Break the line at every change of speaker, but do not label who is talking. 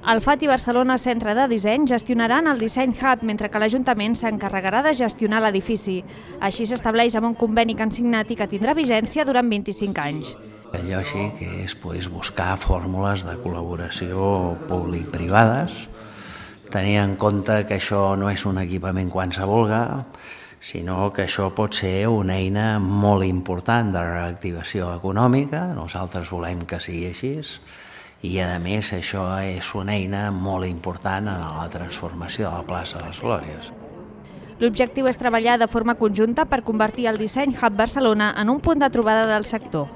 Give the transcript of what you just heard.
El FAT i Barcelona Centre de Disseny gestionaran el Disseny Hub, mentre que l'Ajuntament s'encarregarà de gestionar l'edifici. Així s'estableix amb un conveni que han signat i que tindrà vigència durant 25 anys.
Allò així que és buscar fórmules de col·laboració públic-privades, tenir en compte que això no és un equipament qualsevol, sinó que això pot ser una eina molt important de reactivació econòmica. Nosaltres volem que sigui així i, a més, això és una eina molt important en la transformació de la plaça de les Glòries.
L'objectiu és treballar de forma conjunta per convertir el Disseny Hub Barcelona en un punt de trobada del sector.